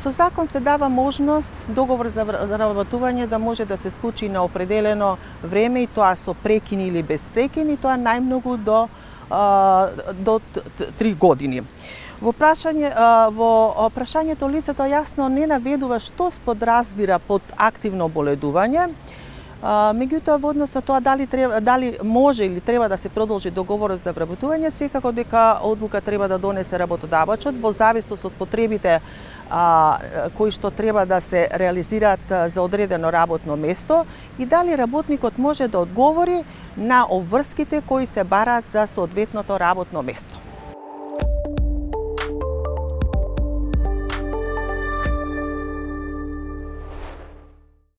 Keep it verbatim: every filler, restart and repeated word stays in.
Со закон се дава можност договор за вработување да може да се склучи на определено време и тоа со прекини или без прекини, тоа најмногу до до три години. Во прашање во прашањето лицето јасно не наведува што подразбира под активно боледување. Меѓутоа во однос на тоа дали треба дали може или треба да се продолжи договорот за вработување, секако дека одлука треба да донесе работодавачот во зависност од потребите а, кои што треба да се реализираат за одредено работно место и дали работникот може да одговори на обврските кои се бараат за соодветното работно место.